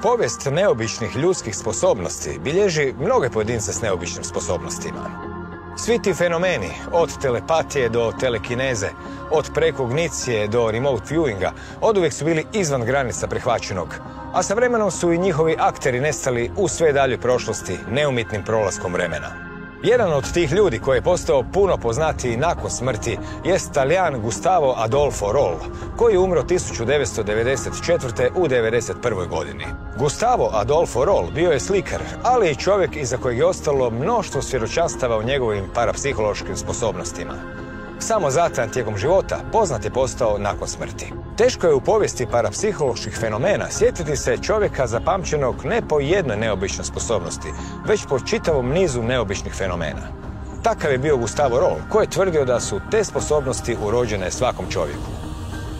Povijest neobičnih ljudskih sposobnosti bilježi mnoge pojedince s neobičnim sposobnostima. Svi ti fenomeni, od telepatije do telekineze, od prekognicije do remote viewinga, oduvijek su bili izvan granica prihvaćenog, a sa vremenom su i njihovi akteri nestali u sve daljoj prošlosti neumitnim prolaskom vremena. Jedan od tih ljudi koji je postao puno poznatiji nakon smrti jest Talijan Gustavo Adolfo Roll, koji je umro 1994. u 91. godini. Gustavo Adolfo Roll bio je slikar, ali i čovjek iza kojeg je ostalo mnoštvo svjedočanstava o njegovim parapsihološkim sposobnostima. Samo zatajan tijekom života poznat je postao nakon smrti. Teško je u povijesti parapsiholoških fenomena sjetiti se čovjeka zapamćenog ne po jednoj neobičnoj sposobnosti, već po čitavom nizu neobičnih fenomena. Takav je bio Gustavo Roll, koji je tvrdio da su te sposobnosti urođene svakom čovjeku.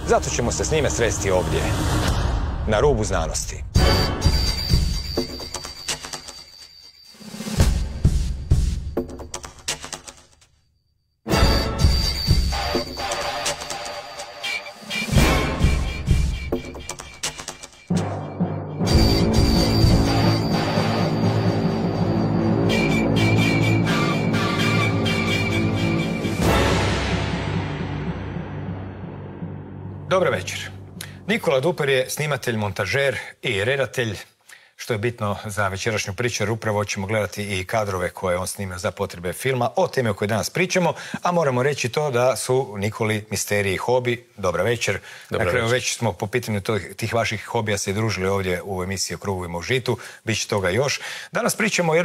Zato ćemo se s njime sresti ovdje, na rubu znanosti. Dobar večer. Nikola Duper je snimatelj, montažer i redatelj, što je bitno za večerašnju priču, jer upravo ćemo gledati i kadrove koje on snima za potrebe filma o temi o kojoj danas pričamo, a moramo reći to da su Nikoli misteriji i hobi. Dobra večer. Na kraju već smo po pitanju tih vaših hobija se družili ovdje u emisiji o Krugovima u žitu, bit će toga još. Danas pričamo o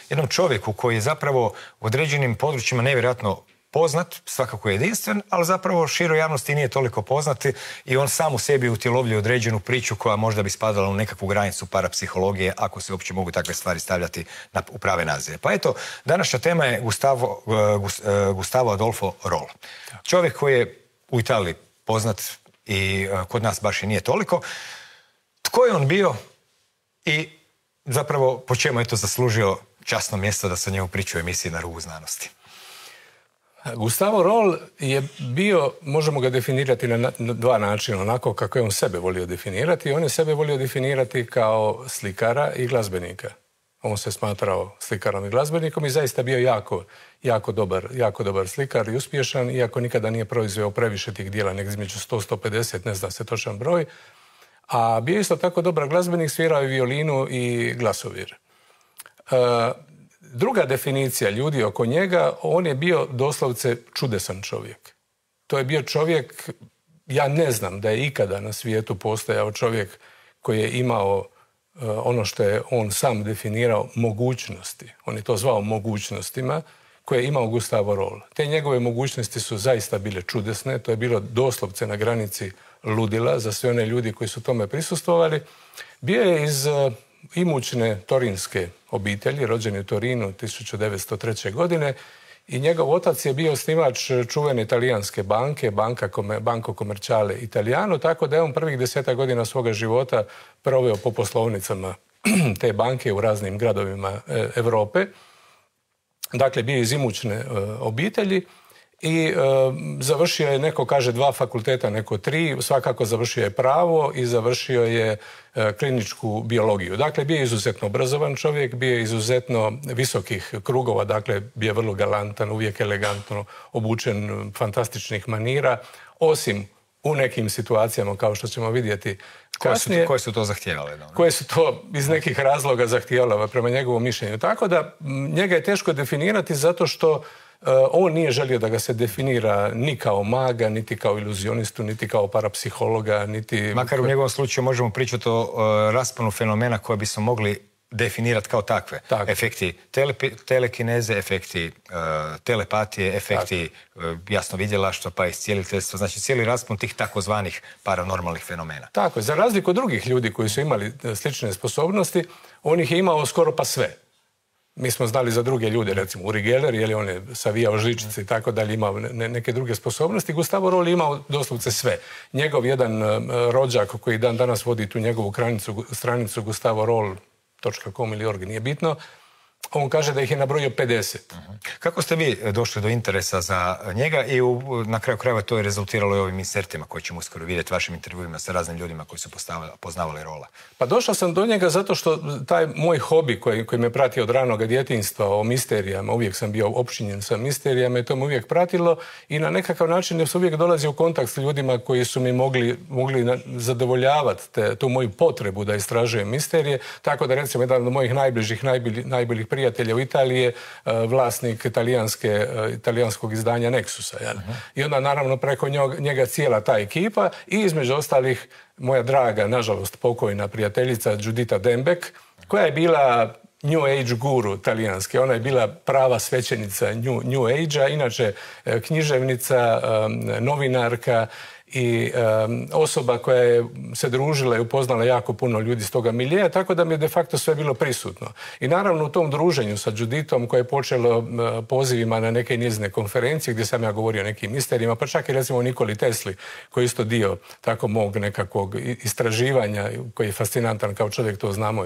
jednom čovjeku koji je zapravo u određenim područjima nevjerojatno poznat, svakako jedinstven, ali zapravo široj javnosti nije toliko poznati i on sam u sebi utjelovljuje određenu priču koja možda bi spadala u nekakvu granicu parapsihologije, ako se uopće mogu takve stvari stavljati u prave nazive. Pa eto, današnja tema je Gustavo Adolfo Roll. Čovjek koji je u Italiji poznat i kod nas baš i nije toliko. Tko je on bio i zapravo po čemu je to zaslužio časno mjesto da se o njemu priča u emisiji Na rubu znanosti? Gustavo Roll je bio, možemo ga definirati na dva načina, onako kako je on sebe volio definirati. On je sebe volio definirati kao slikara i glazbenika. On se smatrao slikarom i glazbenikom i zaista bio jako dobar slikar i uspješan, iako nikada nije proizveo previše tih dijela, nek između 100-150, ne zna se točan broj. A bio isto tako dobar glazbenik, svirao i violinu i glasovir. Druga definicija ljudi oko njega, on je bio doslovce čudesan čovjek. To je bio čovjek, ja ne znam da je ikada na svijetu postojao čovjek koji je imao ono što je on sam definirao mogućnosti. On je to zvao mogućnostima koje je imao Gustavo Roll. Te njegove mogućnosti su zaista bile čudesne, to je bilo doslovce na granici ludila za sve one ljudi koji su tome prisustvovali. Bio je iz imućne torinske obitelji, rođen u Torinu 1903. godine i njegov otac je bio osnivač čuvene italijanske banke, Banco Commerciale Italiano, tako da je on prvih 10 godina svoga života proveo po poslovnicama te banke u raznim gradovima Europe. Dakle, bio iz imućne obitelji i završio je, neko kaže 2 fakulteta, neko 3, svakako završio je pravo i završio je kliničku biologiju. Dakle, bio je izuzetno obrazovan čovjek, bio je izuzetno visokih krugova, dakle, bio je vrlo galantan, uvijek elegantno obučen, fantastičnih manira, osim u nekim situacijama, kao što ćemo vidjeti kasnije. Koje su to zahtijevale? Koje su to iz nekih razloga zahtijevale prema njegovom mišljenju. Tako da njega je teško definirati zato što on nije želio da ga se definira ni kao maga, niti kao iluzionistu, niti kao parapsihologa, niti... Makar u njegovom slučaju možemo pričati o rasponu fenomena koje bismo mogli definirati kao takve. Efekti telekineze, efekti telepatije, efekti jasno vidjelaštva pa i iscijeliteljstva. Znači cijeli raspon tih takozvanih paranormalnih fenomena. Tako je. Za razliku od drugih ljudi koji su imali slične sposobnosti, on ih je imao skoro pa sve. Mi smo znali za druge ljude, recimo Uri Geller, jer on je savijao žičice i tako dalje, imao neke druge sposobnosti. Gustavo Roll je imao doslovce sve. Njegov jedan rođak koji dan danas vodi tu njegovu stranicu gustavoroll.com ili org, nije bitno, On kaže da ih je nabrojio 50. Kako ste vi došli do interesa za njega i na kraju krajeva to je rezultiralo i ovim insertima koje ćemo uskoro vidjeti, vašim intervjuima sa raznim ljudima koji su poznavali Rolla? Pa došao sam do njega zato što taj moj hobi koji me prati od ranog djetinjstva o misterijama, uvijek sam bio opčinjen sa misterijama i to me uvijek pratilo i na nekakav način sam uvijek dolazio u kontakt s ljudima koji su mi mogli zadovoljavati tu moju potrebu da istražujem misterije, tako da recimo jedan od mojih najboljih prijatelja u Italiji je vlasnik italijanskog izdanja Nexusa. I onda naravno preko njega cijela ta ekipa i između ostalih moja draga, nažalost pokojna prijateljica Giuditta Dembek, koja je bila New Age guru talijanske. Ona je bila prava svećenica New Age-a, inače književnica, novinarka i osoba koja je se družila i upoznala jako puno ljudi iz toga miljeja, tako da mi je de facto sve bilo prisutno. I naravno u tom druženju sa Giudittom koje je počelo pozivima na neke njezine konferencije gdje sam ja govorio o nekim misterijima, pa čak i recimo o Nikoli Tesli, koji je isto dio tako mog nekakvog istraživanja, koji je fascinantan kao čovjek, to znamo,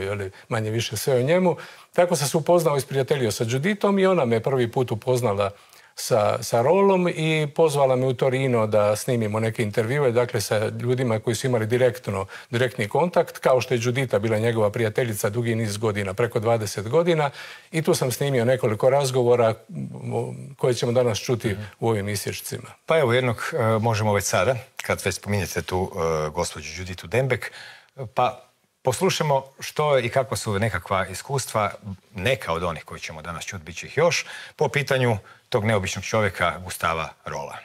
manje više sve o njemu. Tako sam se upoznao i sprijateljio sa Giudittom i ona me prvi put upoznala sa Rollom i pozvala me u Torino da snimimo neke intervjue, dakle sa ljudima koji su imali direktni kontakt, kao što je Giuditta bila njegova prijateljica dugi niz godina, preko 20 godina, i tu sam snimio nekoliko razgovora koje ćemo danas čuti u ovim isječcima. Pa evo jednog možemo već sada, kad već spominjete tu gospođu Giudittu Dembek, pa poslušamo što i kako su nekakva iskustva, neka od onih koji ćemo danas čuti, bit će ih još, po pitanju tog neobičnog čovjeka Gustava Rolla.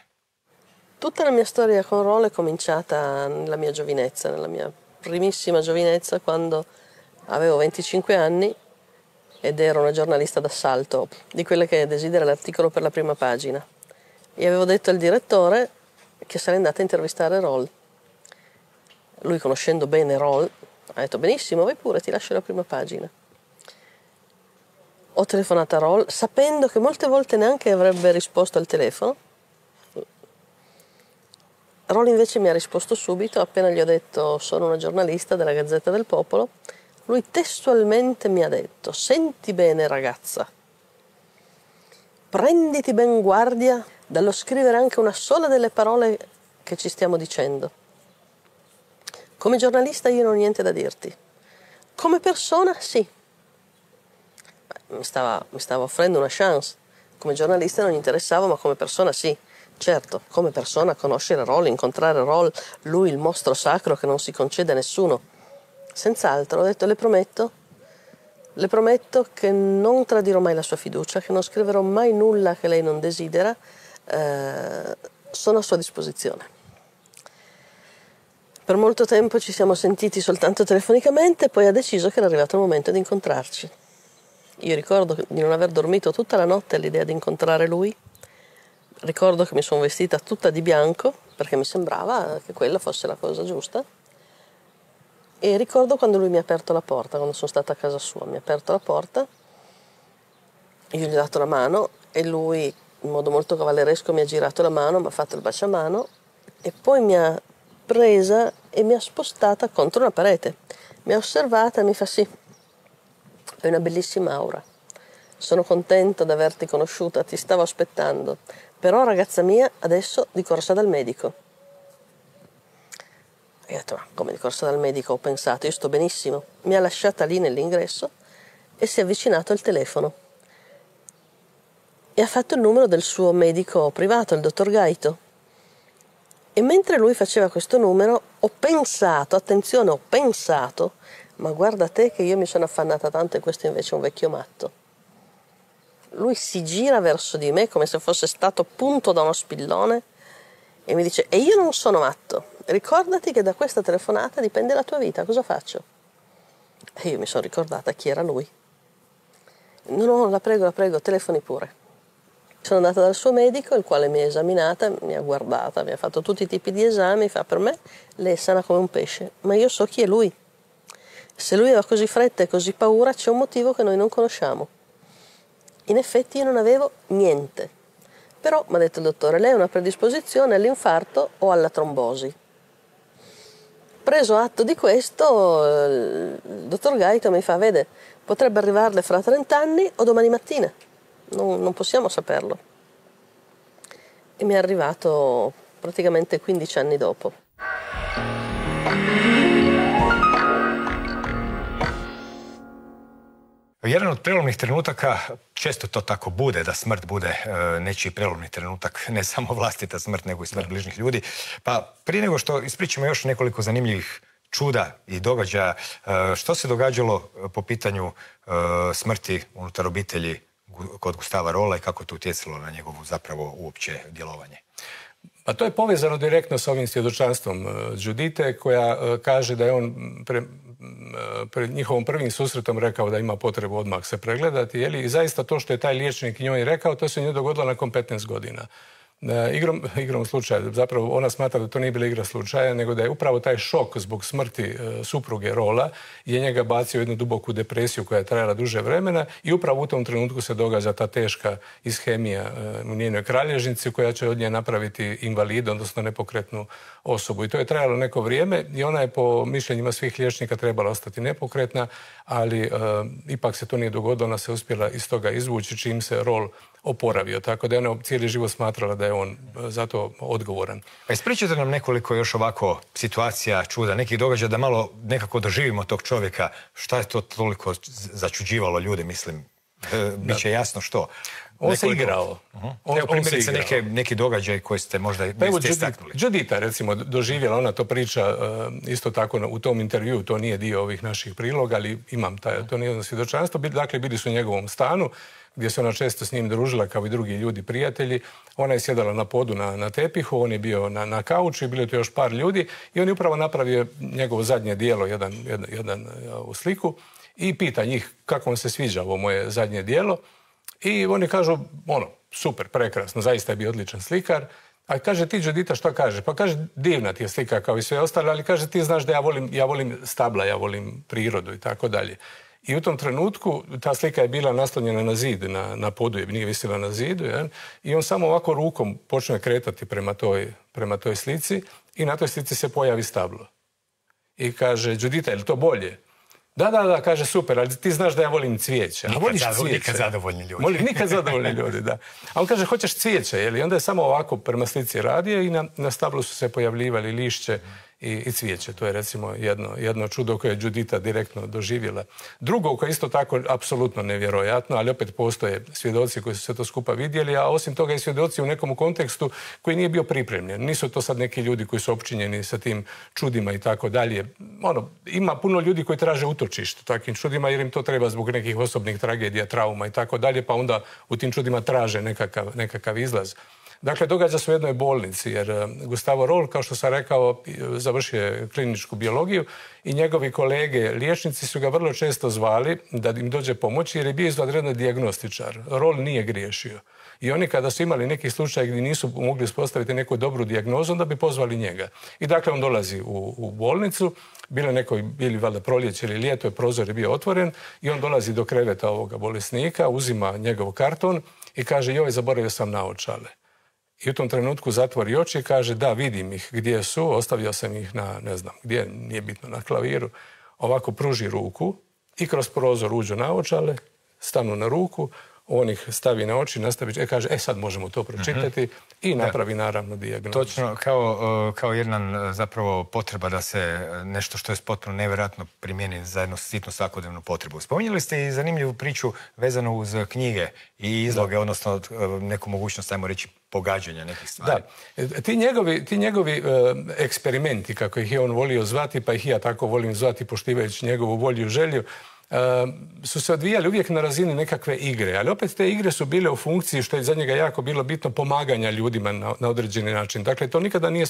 Tutta la mia storia con Rolla è cominciata nella mia giovinezza, nella mia primissima giovinezza, quando avevo 25 anni ed ero una giornalista d'assalto, di quelle che desidera l'articolo per la prima pagina. E avevo detto al direttore che sarei andata a intervistare Roll. Lui, conoscendo bene Roll, ha detto benissimo, vai pure, ti lascio la prima pagina. Ho telefonato a Roll sapendo che molte volte neanche avrebbe risposto al telefono. Roll invece mi ha risposto subito, appena gli ho detto sono una giornalista della Gazzetta del Popolo. Lui testualmente mi ha detto: senti bene ragazza, prenditi ben guardia dallo scrivere anche una sola delle parole che ci stiamo dicendo. Come giornalista io non ho niente da dirti. Come persona sì. Mi stava offrendo una chance. Come giornalista non gli interessava, ma come persona sì. Certo, come persona conoscere Roll, incontrare Roll, lui il mostro sacro che non si concede a nessuno. Senz'altro, ho detto, le prometto che non tradirò mai la sua fiducia, che non scriverò mai nulla che lei non desidera, sono a sua disposizione. Per molto tempo ci siamo sentiti soltanto telefonicamente, poi ha deciso che era arrivato il momento di incontrarci. Io ricordo di non aver dormito tutta la notte all'idea di incontrare lui. Ricordo che mi sono vestita tutta di bianco perché mi sembrava che quella fosse la cosa giusta. E ricordo quando lui mi ha aperto la porta, quando sono stata a casa sua, mi ha aperto la porta, io gli ho dato la mano e lui in modo molto cavalleresco mi ha girato la mano, mi ha fatto il baciamano e poi mi ha presa e mi ha spostata contro una parete. Mi ha osservata e mi fa: sì, hai una bellissima aura, sono contento di averti conosciuta, ti stavo aspettando, però ragazza mia adesso di corsa dal medico. E ho detto: ma come di corsa dal medico? Ho pensato, io sto benissimo. Mi ha lasciata lì nell'ingresso e si è avvicinato al telefono e ha fatto il numero del suo medico privato, il dottor Gaito. E mentre lui faceva questo numero ho pensato, attenzione, ho pensato, ma guarda te che io mi sono affannata tanto e questo invece è un vecchio matto. Lui si gira verso di me come se fosse stato punto da uno spillone e mi dice: e io non sono matto, ricordati che da questa telefonata dipende la tua vita, cosa faccio? E io mi sono ricordata chi era lui. No, la prego, telefoni pure. Sono andata dal suo medico, il quale mi ha esaminata, mi ha guardata, mi ha fatto tutti i tipi di esami, fa: per me lei è sana come un pesce, ma io so chi è lui. Se lui aveva così fretta e così paura, c'è un motivo che noi non conosciamo. In effetti io non avevo niente. Però, mi ha detto il dottore, lei ha una predisposizione all'infarto o alla trombosi. Preso atto di questo, il dottor Gaito mi fa: vede, Potrebbe arrivarle fra 30 anni o domani mattina, non possiamo saperlo. E mi è arrivato praticamente 15 anni dopo. Jedan od prelomnih trenutaka, često to tako bude, da smrt bude nečiji prelomni trenutak, ne samo vlastita smrt, nego i smrt bližnjih ljudi. Pa prije nego što ispričamo još nekoliko zanimljivih čuda i događaja, što se događalo po pitanju smrti unutar obitelji kod Gustava Rolla i kako to utjecalo na njegovu zapravo uopće djelovanje? Pa to je povezano direktno s ovim svjedočanstvom Judite, koja kaže da je on pred njihovom prvim susretom rekao da ima potrebu odmah se pregledati. I zaista to što je taj liječnik njoj rekao, to se njoj dogodilo nakon 15 godina. Igrom slučaja, zapravo ona smatra da to nije bila igra slučaja, nego da je upravo taj šok zbog smrti supruge Rolla je njega bacio u jednu duboku depresiju koja je trajala duže vremena i upravo u tom trenutku se događa ta teška ishemija u njenoj kralježnici koja će od nje napraviti invalida, odnosno nepokretnu osobu. I to je trajalo neko vrijeme i ona je po mišljenjima svih liječnika trebala ostati nepokretna, ali ipak se to nije dogodilo, ona se uspjela iz toga izvući čim se Roll oporavio, tako da je ona cijeli život smatrala da je on za to odgovoran. A ispričajte nam nekoliko još ovako situacija, čuda, nekih događaja da malo nekako doživimo tog čovjeka. Šta je to toliko začuđivalo ljude, mislim? Biće jasno što. On se igrao. Evo primjerice neki događaj koji ste možda istaknuli. Judita, recimo, doživjela, ona to priča isto tako u tom intervju, to nije dio ovih naših priloga, ali imam to nije jedno svjedočanstvo. Dakle, bili su u njegovom stanu, gdje se ona često s njim družila kao i drugi ljudi, prijatelji. Ona je sjedala na podu na tepihu, on je bio na kauču i bilo je tu još par ljudi i on je upravo napravio njegovo zadnje dijelo, jedan sliku i pita njih kako vam se sviđa ovo moje zadnje dijelo. I oni kažu, super, prekrasno, zaista je bio odličan slikar. A kaže, ti Judita što kaže? Pa kaže, divna ti je slika kao i sve ostale, ali kaže, ti znaš da ja volim stabla, ja volim prirodu i tako dalje. I u tom trenutku ta slika je bila naslonjena na zid, na podu, nije visila na zidu, i on samo ovako rukom počne kretati prema toj slici i na toj slici se pojavi stablo. I kaže, Judita, je li to bolje? Da, kaže, super, ali ti znaš da ja volim cvijeće. Nikad zadovoljni ljudi. Nikad zadovoljni ljudi, da. A on kaže, hoćeš cvijeće, i onda je samo ovako prema slici radio i na stablu su se pojavljivali lišće i cvijeće. To je recimo jedno čudo koje je Judita direktno doživjela. Drugo koje je isto tako apsolutno nevjerojatno, ali opet postoje svjedoci koji su se to skupa vidjeli, a osim toga i svjedoci u nekom kontekstu koji nije bio pripremljen. Nisu to sad neki ljudi koji su opčinjeni sa tim čudima i tako dalje. Ima puno ljudi koji traže utočište takvim čudima jer im to treba zbog nekih osobnih tragedija, trauma i tako dalje, pa onda u tim čudima traže nekakav izlaz. Dakle, događa se u jednoj bolnici, jer Gustavo Roll, kao što sam rekao, završio je kliničku biologiju i njegovi kolege liječnici su ga vrlo često zvali da im dođe pomoći jer je bio izvanredni dijagnostičar. Roll nije griješio. I oni kada su imali neki slučaj gdje nisu mogli uspostaviti neku dobru dijagnozu, onda bi pozvali njega. I dakle, on dolazi u bolnicu, bili valjda proljeće ili ljeto, prozor je bio otvoren i on dolazi do kreveta ovoga bolesnika, uzima njegov karton i kaže, joj, zaboravio sam naočale. I u tom trenutku zatvori oči i kaže, da, vidim ih gdje su, ostavio sam ih na, ne znam, gdje, nije bitno, na klaviru. Ovako pruži ruku i kroz prozor uđu naočale, stanu na ruku, on ih stavi na oči, nastavi, kaže, sad možemo to pročitati i napravi naravno dijagnozu. Točno, kao jedan zapravo potreba da se nešto što je potpuno nevjerojatno primijeni za jednu sitnu svakodnevnu potrebu. Spominjali ste i zanimljivu priču vezanu uz knjige i izloge, odnosno neku mogućnost, ajmo reći, pogađanja nekih stvari. Da. Ti njegovi eksperimenti, kako ih je on volio zvati, pa ih ja tako volim zvati poštivajući njegovu volju i želju, su se odvijali uvijek na razini nekakve igre, ali opet te igre su bile u funkciji, što je za njega jako bilo bitno, pomaganja ljudima na određeni način. Dakle, to nikada nije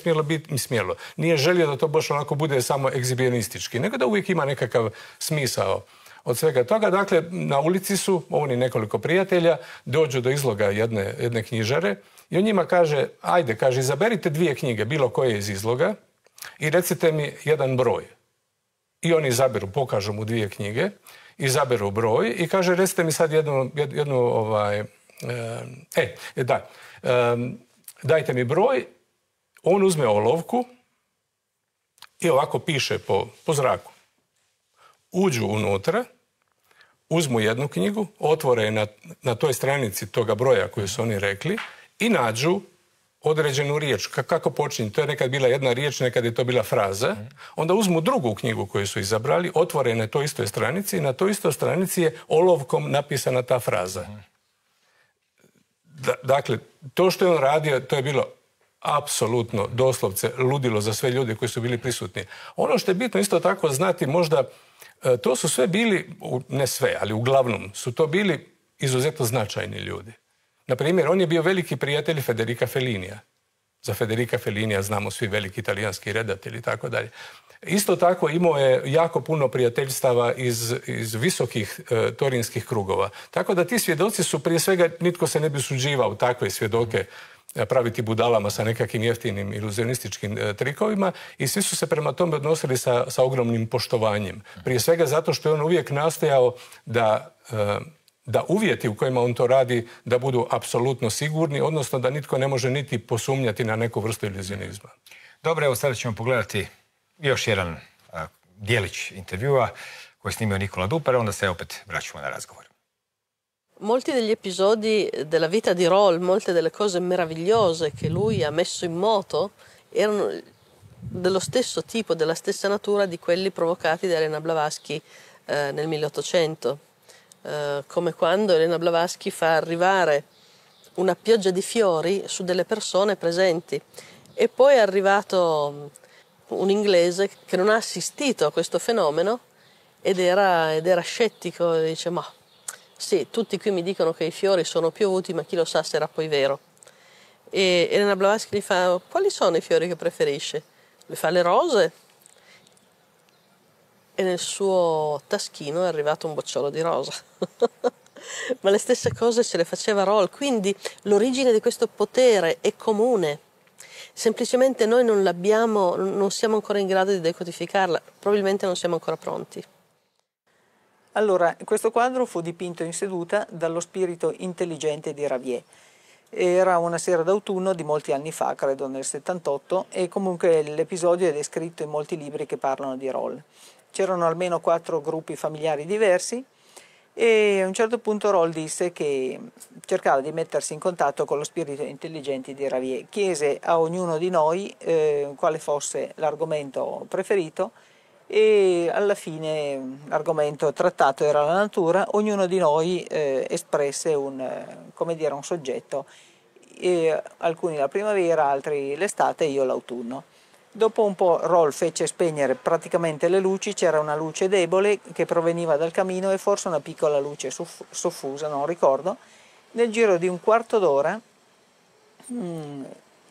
smjelo. Nije želio da to baš onako bude samo egzibijonistički, nego da uvijek ima nekakav smisao od svega toga. Dakle, na ulici su oni nekoliko prijatelja, dođu do izloga jedne knjižare i on njima kaže, ajde, kaže, izaberite 2 knjige, bilo koje iz izloga i recite mi jedan broj. I oni izaberu, pokažu mu 2 knjige, izaberu broj i kaže, recite mi sad dajte mi broj, on uzme olovku i ovako piše po zraku. Uđu unutra, uzmu jednu knjigu, otvore je na toj stranici toga broja koju su oni rekli i nađu određenu riječ. Kako počinje? To je nekad bila jedna riječ, nekad je to bila fraza. Onda uzmu drugu knjigu koju su izabrali, otvore na toj istoj stranici i na toj istoj stranici je olovkom napisana ta fraza. Dakle, to što je on radio, to je bilo apsolutno, doslovce, ludilo za sve ljude koji su bili prisutni. Ono što je bitno isto tako znati, možda, to su sve bili, ne sve, ali uglavnom, su to bili izuzetno značajni ljudi. Na primjer, on je bio veliki prijatelj Federica Fellinija. Za Federica Fellinija znamo svi veliki italijanski redatelji i tako dalje. Isto tako imao je jako puno prijateljstava iz visokih torinskih krugova. Tako da ti svjedoci su, prije svega, nitko se ne bi usuđivao takve svjedoke praviti budalama sa nekakvim jeftinim iluzionističkim trikovima i svi su se prema tome odnosili sa ogromnim poštovanjem. Prije svega zato što je on uvijek nastojao da uvjeti u kojima on to radi da budu apsolutno sigurni, odnosno da nitko ne može niti posumnjati na neku vrstu iluzionizma. Dobro, evo sada ćemo pogledati još jedan dijelić intervjua koji je snimio Nicola Duper, onda se opet vraćamo na razgovor. Molti degli episodi della vita di Roll, molte delle cose meravigliose che lui ha messo in moto erano dello stesso tipo, della stessa natura di quelli provocati da Elena Blavatsky nel 1800. Come quando Elena Blavatsky fa arrivare una pioggia di fiori su delle persone presenti e poi è arrivato un inglese che non ha assistito a questo fenomeno ed era scettico e dice ma sì, tutti qui mi dicono che i fiori sono piovuti ma chi lo sa se era poi vero. E Elena Blavatsky gli fa quali sono i fiori che preferisce? Lui fa le rose e nel suo taschino è arrivato un bocciolo di rosa. Ma le stesse cose ce le faceva Roll, quindi l'origine di questo potere è comune. Semplicemente noi non siamo ancora in grado di decodificarla, probabilmente non siamo ancora pronti. Allora, questo quadro fu dipinto in seduta dallo spirito intelligente di Ravier. Era una sera d'autunno di molti anni fa, credo nel 78, e comunque l'episodio è descritto in molti libri che parlano di Roll. C'erano almeno 4 gruppi familiari diversi e a un certo punto Roll disse che cercava di mettersi in contatto con lo spirito intelligente di Ravier. Chiese a ognuno di noi quale fosse l'argomento preferito e alla fine l'argomento trattato era la natura. Ognuno di noi espresse un soggetto, alcuni la primavera, altri l'estate e io l'autunno. Dopo un po' Roll fece spegnere praticamente le luci, c'era una luce debole che proveniva dal camino e forse una piccola luce soffusa, non ricordo. Nel giro di un quarto d'ora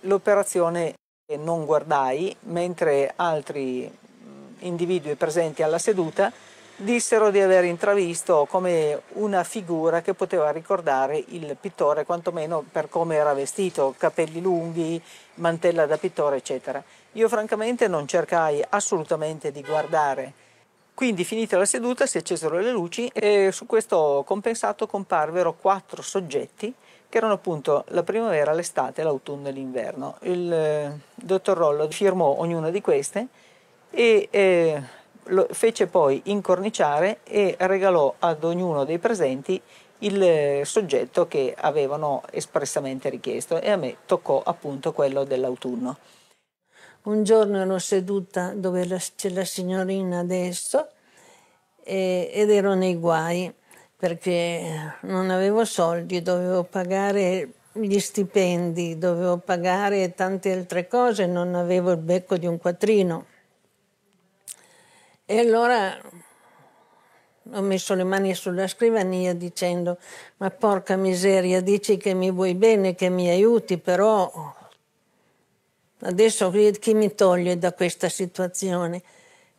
l'operazione non guardai, mentre altri individui presenti alla seduta dissero di aver intravisto come una figura che poteva ricordare il pittore, quantomeno per come era vestito, capelli lunghi, mantella da pittore, eccetera. Io francamente non cercai assolutamente di guardare. Quindi finita la seduta si accesero le luci e su questo compensato comparvero 4 soggetti che erano appunto la primavera, l'estate, l'autunno e l'inverno. Il dottor Rollo firmò ognuna di queste e lo fece poi incorniciare e regalò ad ognuno dei presenti il soggetto che avevano espressamente richiesto e a me toccò appunto quello dell'autunno. Un giorno ero seduta dove c'è la signorina adesso ed ero nei guai perché non avevo soldi, dovevo pagare gli stipendi, dovevo pagare tante altre cose, non avevo il becco di un quattrino. E allora ho messo le mani sulla scrivania dicendo ma porca miseria, dici che mi vuoi bene, che mi aiuti, però adesso chi mi toglie da questa situazione?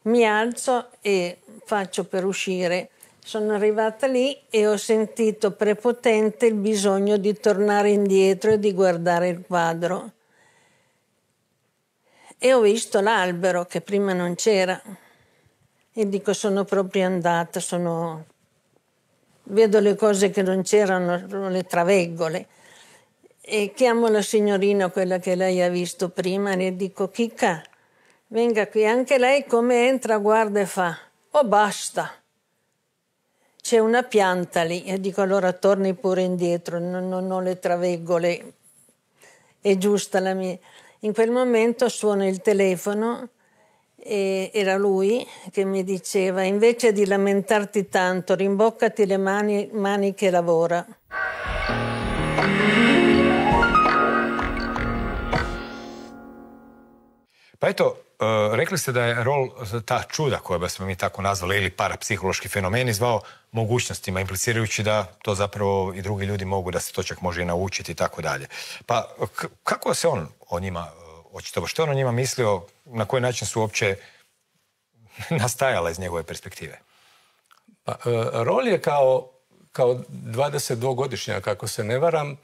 Mi alzo e faccio per uscire. Sono arrivata lì e ho sentito prepotente il bisogno di tornare indietro e di guardare il quadro. E ho visto l'albero che prima non c'era. E dico, sono proprio andata, vedo le cose che non c'erano, le traveggole. E chiamo la signorina, quella che lei ha visto prima, e le dico, Chicca, venga qui, anche lei come entra, guarda e fa, oh basta. c'è una pianta lì, e dico allora torni pure indietro, non ho le traveggole, è giusta la mia. In quel momento suona il telefono e era lui che mi diceva: invece di lamentarti tanto, rimboccati le mani che lavora. Pa eto, rekli ste da je rol ta čuda, koja bismo mi tako nazvali, ili parapsihološki fenomeni, zvao mogućnostima, implicirajući da to zapravo i drugi ljudi mogu, da se to čak može i naučiti i tako dalje. Pa kako se on o njima očitovao? Što on o njima mislio? Na koji način su uopće nastajala iz njegove perspektive? Pa, rol je kao 22-godišnjak, ako se ne varam,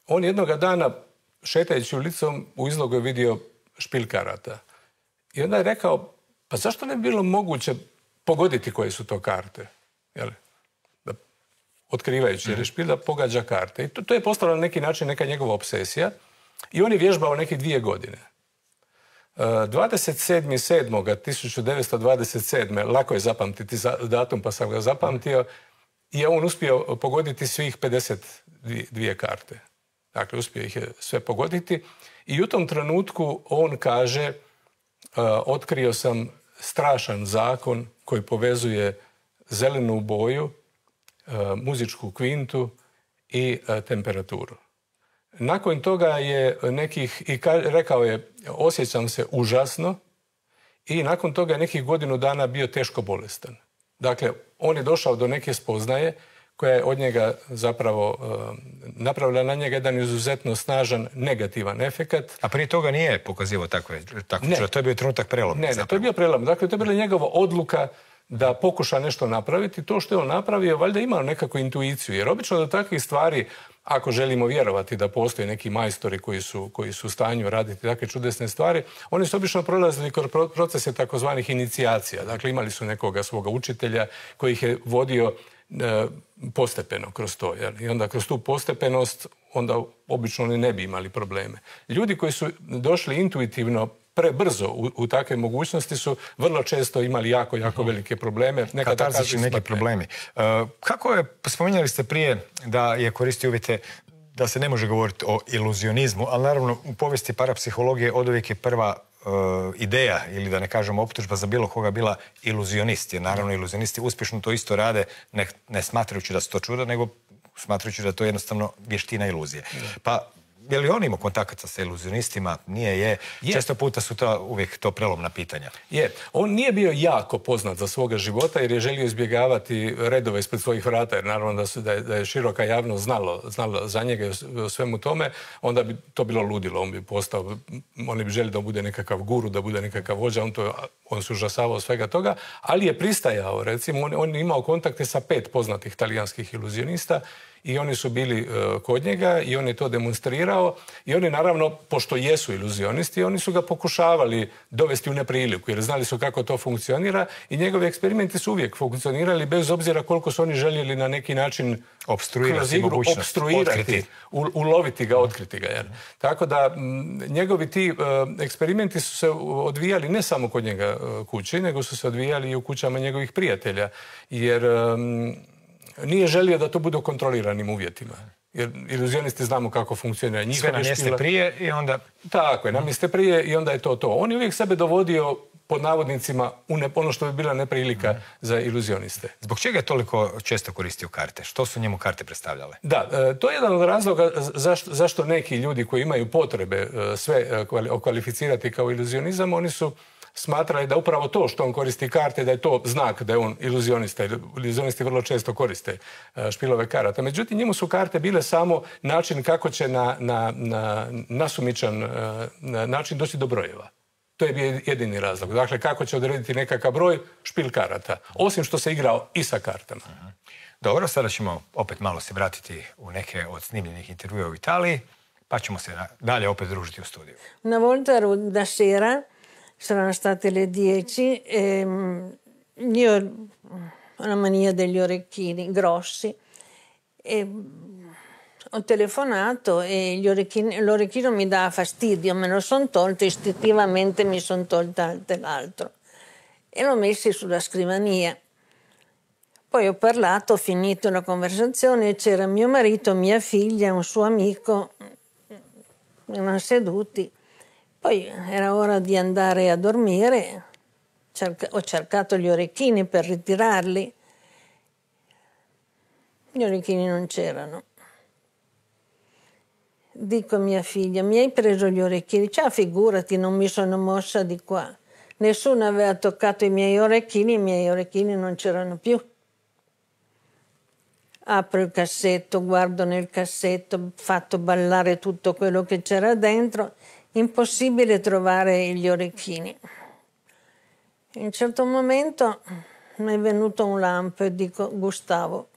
on jednoga dana, šetajući ulicom, u izlogu je vidio špil karata. I onda je rekao, pa zašto ne bi bilo moguće pogoditi koje su to karte? Jel? Da, otkrivajući jer je špil da pogađa karte. I to je postala na neki način neka njegova obsesija. I on je vježbao neke 2 godine. 27.7.1927. lako je zapamtiti datum, pa sam ga zapamtio, i on uspio pogoditi svih 52 karte. Dakle, uspio ih je sve pogoditi. I u tom trenutku on kaže, otkrio sam strašan zakon koji povezuje zelenu boju, muzičku kvintu i temperaturu. Nakon toga je rekao je, osjećam se užasno, i nakon toga je nekih godinu dana bio teško bolestan. Dakle, on je došao do neke spoznaje koja je od njega zapravo napravila na njega jedan izuzetno snažan negativan efekat. A prije toga nije pokazivao takvo čudo, to je bio trenutak preloma. Ne, to je bio prelom. Dakle, to je bila njegova odluka da pokuša nešto napraviti. To što je on napravio, valjda imao nekakvu intuiciju. Jer obično do takvih stvari, ako želimo vjerovati da postoje neki majstori koji su u stanju raditi takve čudesne stvari, oni su obično prolazili kroz procese takozvanih inicijacija. Dakle, imali su nekoga svoga učitelja koji ih je vodio postepeno kroz to. I onda kroz tu postepenost onda obično oni ne bi imali probleme. Ljudi koji su došli intuitivno prebrzo u takve mogućnosti su vrlo često imali jako velike probleme. Katarzični neki problemi. Kako je, spominjali ste prije da je koristio uvjete da se ne može govoriti o iluzionizmu, ali naravno u povijesti parapsihologije oduvijek je prva ideja, ili da ne kažem optužba za bilo koga, bila iluzionist. Jer naravno iluzionisti uspješno to isto rade, ne smatrajući da su to čuda, nego smatrajući da je to jednostavno vještina iluzije. Pa je li on imao kontakata sa iluzionistima? Nije. Često puta su to uvijek to prelomna pitanja. On nije bio jako poznat za svoga života jer je želio izbjegavati redove ispred svojih vrata, jer naravno da je široka javnost znala za njega i o svemu tome, onda bi to bilo ludilo. Oni bi želi da bude nekakav guru, da bude nekakav vođa, on se užasavao svega toga, ali je pristajao, recimo, on je imao kontakte sa 5 poznatih talijanskih iluzionista i oni su bili kod njega i on je to demonstrirao i oni naravno, pošto jesu iluzionisti, oni su ga pokušavali dovesti u nepriliku jer znali su kako to funkcionira i njegovi eksperimenti su uvijek funkcionirali bez obzira koliko su oni željeli na neki način opstruirati, uloviti ga, otkriti ga. Jer. Tako da njegovi ti eksperimenti su se odvijali ne samo kod njega kući, nego su se odvijali i u kućama njegovih prijatelja. Jer nije želio da to bude u kontroliranim uvjetima. Jer iluzionisti znamo kako funkcionira. Sve namjeste prije i onda... Tako je, namjeste prije i onda je to. On je uvijek sebe dovodio pod navodnicima ono što bi bila neprilika za iluzioniste. Zbog čega je toliko često koristio karte? Što su njemu karte predstavljale? Da, to je jedan od razloga zašto neki ljudi koji imaju potrebe sve okvalificirati kao iluzionizam, oni su smatrali da upravo to što on koristi karte, da je to znak da je on iluzionista. Iluzionisti vrlo često koriste špilove karata. Međutim, njemu su karte bile samo način kako će na nasumičan način doći do brojeva. To je bio jedini razlog. Dakle, kako će odrediti nekakav broj, špil karata. Osim što se igrao i sa kartama. Dobro, sada ćemo opet malo se vratiti u neke od snimljenih intervjua u Italiji, pa ćemo se dalje opet družiti u studiju. Una volta da sera saranno state le 10 e io ho una mania degli orecchini grossi e ho telefonato e l'orecchino mi dava fastidio, me lo son tolto, istintivamente mi son tolta l'altro e l'ho messo sulla scrivania. Poi ho parlato, ho finito la conversazione, c'era mio marito, mia figlia, un suo amico, erano seduti. Poi era ora di andare a dormire, ho cercato gli orecchini per ritirarli, gli orecchini non c'erano. Dico a mia figlia, mi hai preso gli orecchini? Ciao, figurati, non mi sono mossa di qua. Nessuno aveva toccato i miei orecchini non c'erano più. Apro il cassetto, guardo nel cassetto, ho fatto ballare tutto quello che c'era dentro, impossibile trovare gli orecchini. In un certo momento mi è venuto un lampo e dico, Gustavo,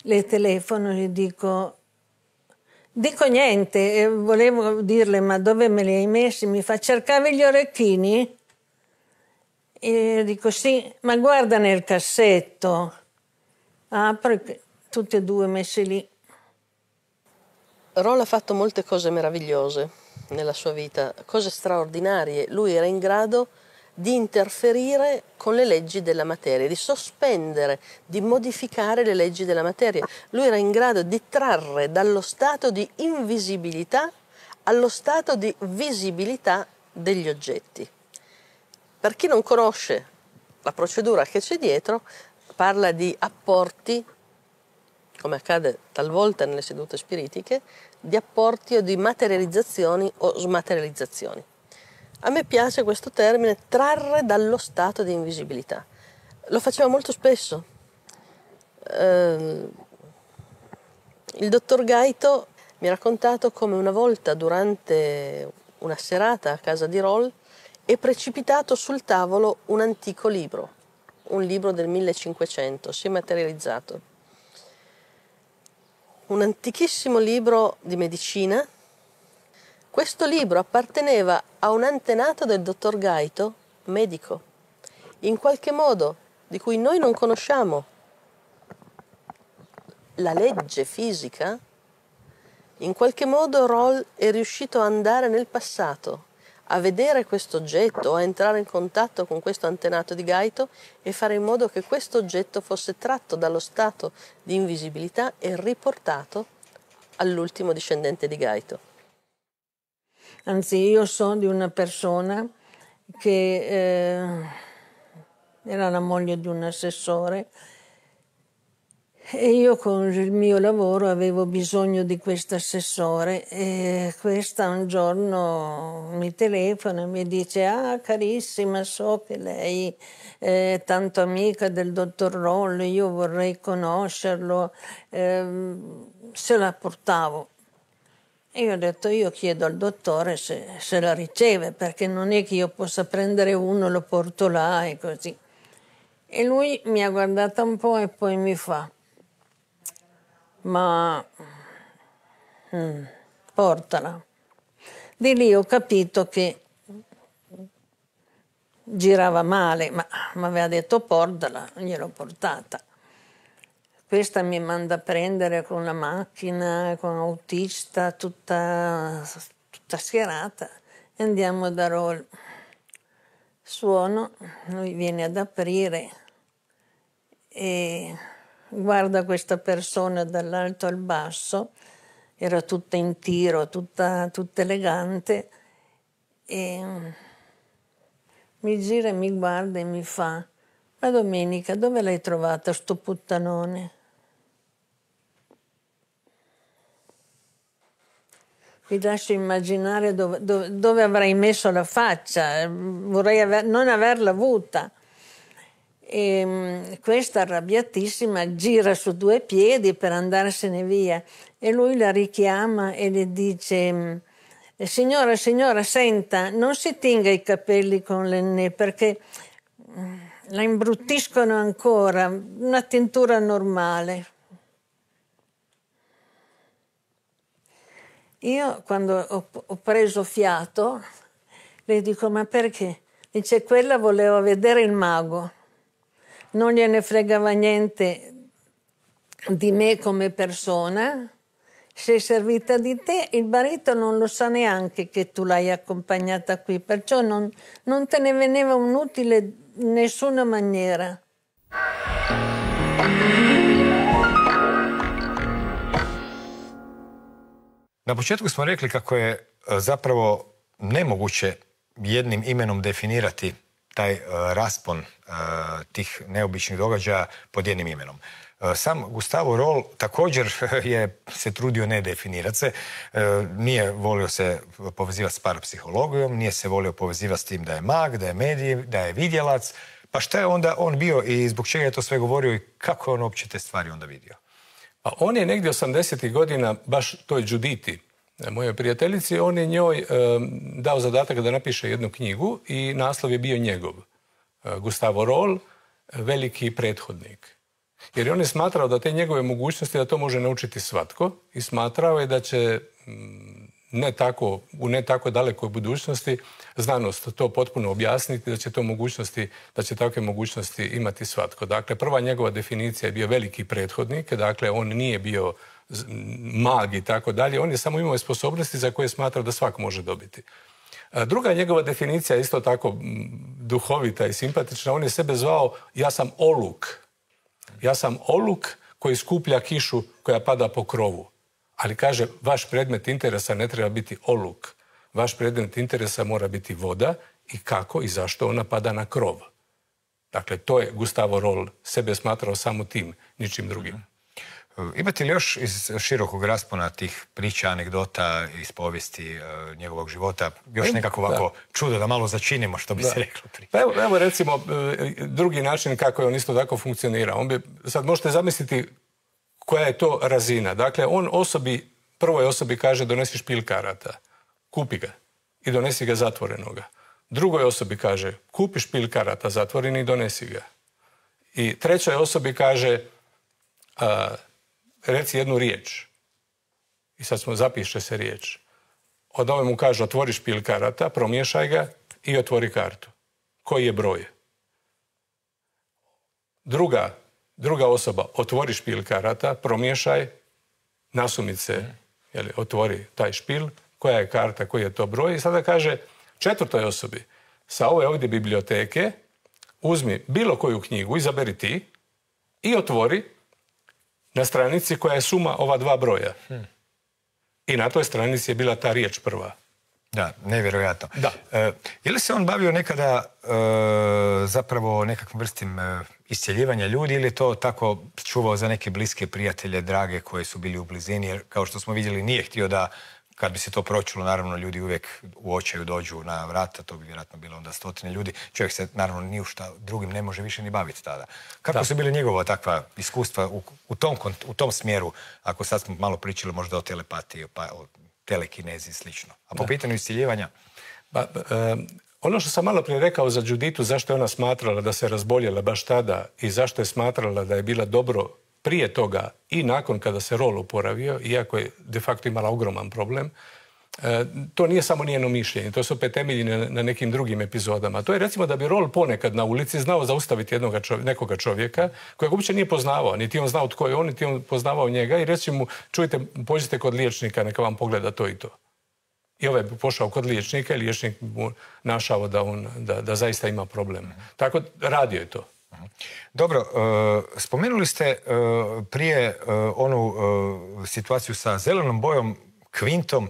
le telefono e gli dico niente, e volevo dirle, ma dove me li hai messi? Mi fa, cercavi gli orecchini? E dico, sì, ma guarda nel cassetto. Apro, tutti e due messi lì. Roll ha fatto molte cose meravigliose nella sua vita, cose straordinarie. Lui era in grado di interferire con le leggi della materia, di sospendere, di modificare le leggi della materia. Lui era in grado di trarre dallo stato di invisibilità allo stato di visibilità degli oggetti. Per chi non conosce la procedura che c'è dietro, parla di apporti, come accade talvolta nelle sedute spiritiche, di apporti o di materializzazioni o smaterializzazioni. A me piace questo termine, trarre dallo stato di invisibilità. Lo faceva molto spesso. Il dottor Gaito mi ha raccontato come una volta durante una serata a casa di Roll è precipitato sul tavolo un antico libro, un libro del 1500, si è materializzato. Un antichissimo libro di medicina. Questo libro apparteneva a un antenato del dottor Gaito, medico, in qualche modo di cui noi non conosciamo la legge fisica. In qualche modo Roll è riuscito ad andare nel passato, a vedere questo oggetto, a entrare in contatto con questo antenato di Gaito e fare in modo che questo oggetto fosse tratto dallo stato di invisibilità e riportato all'ultimo discendente di Gaito. Anzi, io so di una persona che era la moglie di un assessore e io con il mio lavoro avevo bisogno di questo assessore e questa un giorno mi telefona e mi dice carissima, so che lei è tanto amica del dottor Roll, io vorrei conoscerlo, se la portavo. E io ho detto, io chiedo al dottore se la riceve, perché non è che io possa prendere uno, lo porto là e così. E lui mi ha guardata un po' e poi mi fa, ma portala. Di lì ho capito che girava male, ma mi aveva detto portala, gliel'ho portata. Questa mi manda a prendere con la macchina, con autista, tutta schierata, e andiamo da Roll. Suono, lui viene ad aprire e guarda questa persona dall'alto al basso, era tutta in tiro, tutta elegante, e mi gira e mi guarda e mi fa, ma Domenica, dove l'hai trovata sto puttanone? Vi lascio immaginare dove avrei messo la faccia, vorrei non averla avuta. E questa arrabbiatissima gira su due piedi per andarsene via e lui la richiama e le dice, signora, senta, non si tinga i capelli con l'Ennè perché la imbruttiscono ancora, una tintura normale. Io quando ho preso fiato le dico, ma perché? Dice, quella voleva vedere il mago, non gliene fregava niente di me come persona, sei servita di te, il marito non lo sa neanche che tu l'hai accompagnata qui, perciò non te ne veniva un utile in nessuna maniera. Na početku smo rekli kako je zapravo nemoguće jednim imenom definirati taj raspon tih neobičnih događaja pod jednim imenom. Sam Gustavo Roll također se trudio ne definirati se, nije volio se povezivati s parapsihologijom, nije se volio povezivati s tim da je mag, da je medij, da je vidjelac. Pa šta je onda on bio i zbog čega je to sve govorio i kako je on uopće te stvari onda vidio? A on je negdje 80. godina, baš toj Juditi, mojoj prijateljici, on je njoj dao zadatak da napiše jednu knjigu i naslov je bio njegov. Gustavo Roll, veliki prethodnik. Jer on je smatrao da te njegove mogućnosti, da to može naučiti svatko i smatrao je da će u ne tako dalekoj budućnosti znanost to potpuno objasniti, da će takve mogućnosti imati svatko. Dakle, prva njegova definicija je bio veliki prethodnik, dakle, on nije bio mag i tako dalje, on je samo imao sposobnosti za koje je smatrao da svako može dobiti. Druga njegova definicija je isto tako duhovita i simpatična, on je sebe zvao ja sam oluk. Ja sam oluk koji skuplja kišu koja pada po krovu. Ali kaže, vaš predmet interesa ne treba biti oluk. Vaš predmet interesa mora biti voda i kako i zašto ona pada na krov. Dakle, to je Gustavo Roll sebe smatrao samo tim, ničim drugim. Imate li još iz širokog raspona tih priča, anegdota iz povijesti njegovog života, još nekako ovako čudo da malo začinimo, što bi se reklo prije? Pa evo recimo drugi način kako je on isto tako funkcionirao. Sad možete zamisliti koja je to razina. Dakle, on prvoj osobi kaže donesi špil karata, kupi ga i donesi ga zatvorenoga. Drugoj osobi kaže kupi špil karata zatvoreni i donesi ga. I trećoj osobi kaže reci jednu riječ. I sad zapiše se riječ. Od ove mu kaže otvori špil karata, promiješaj ga i otvori kartu. Koji je broj? Druga osoba otvori špil karata, promiješaj, nasumice, otvori taj špil, koja je karta, koji je to broj. I sada kaže četvrtoj osobi, sa ove ovdje biblioteke uzmi bilo koju knjigu, izaberi ti i otvori na stranici koja je suma ova dva broja. I na toj stranici je bila ta riječ prva. Da, nevjerojatno. Da. Je li se on bavio nekada zapravo nekakvom vrstim iscjeljivanja ljudi ili je to tako čuvao za neke bliske prijatelje, drage koji su bili u blizini? Jer kao što smo vidjeli nije htio da, kad bi se to pročulo, naravno ljudi uvijek u očaju dođu na vrata, to bi vjerojatno bilo onda 100 ljudi. Čovjek se naravno ni u šta drugim ne može više ni baviti tada. Kako su bile njegova takva iskustva u tom smjeru, ako sad smo malo pričali možda o telepatiji, pa o telekinezi i slično. A po pitanju isciljivanja? Ono što sam malo prije rekao za Juditu, zašto je ona smatrala da se razboljela baš tada i zašto je smatrala da je bila dobro prije toga i nakon kada se Roll oporavio, iako je de facto imala ogroman problem, to nije samo njeno mišljenje, to se opet temelji na nekim drugim epizodama. To je recimo da bi Roll ponekad na ulici znao zaustaviti nekoga čovjeka kojeg uopće nije poznavao, niti on znao tko je on, niti on poznavao njega i reći mu, čujte, pođite kod liječnika, neka vam pogleda to i to. I ovaj bi pošao kod liječnika i liječnik mu našao da zaista ima problem. Tako radio je to. Dobro, spomenuli ste prije onu situaciju sa zelenom bojom, kvintom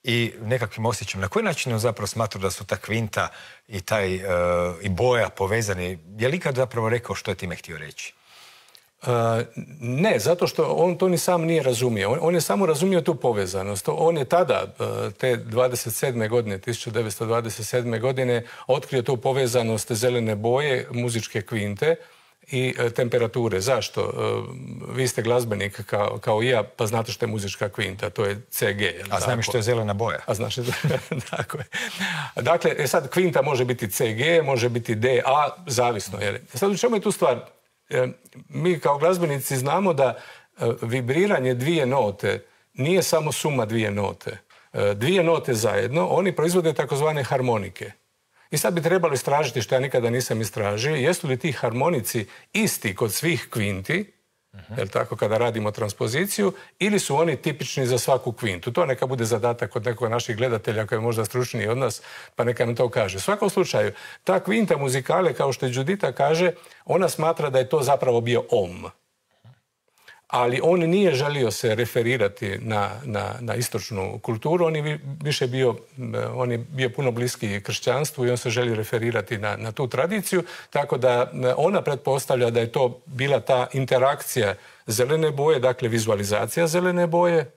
i nekakvim osjećajem. Na koji način on zapravo smatrao da su ta kvinta i boja povezani? Je li ikad zapravo rekao što je time htio reći? Ne, zato što on to ni sam nije razumio. On je samo razumio tu povezanost. On je tada, te 1927. godine, otkrio tu povezanost zelene boje, muzičke kvinte i temperature. Zašto? Vi ste glazbenik kao i ja, pa znate što je muzička kvinta, to je CG. A znam i što je zelena boja. A znaš, tako je. Dakle, sad kvinta može biti CG, može biti D, A, zavisno. Sad u čemu je tu stvar? Mi kao glazbenici znamo da vibriranje dvije note nije samo suma dvije note. Dvije note zajedno, oni proizvode takozvane harmonike. I sad bi trebalo istražiti, što ja nikada nisam istražio, jesu li ti harmonici isti kod svih kvinti, jel tako, kada radimo transpoziciju, ili su oni tipični za svaku kvintu. To neka bude zadatak od nekog naših gledatelja koji je možda stručniji od nas, pa neka nam to kaže. U svakom slučaju, ta kvinta muzikale, kao što je Judita kaže, ona smatra da je to zapravo bio om. ali on nije želio se referirati na istočnu kulturu, on je bio puno bliski kršćanstvu i on se želi referirati na tu tradiciju, tako da ona pretpostavlja da je to bila ta interakcija zelene boje, dakle vizualizacija zelene boje,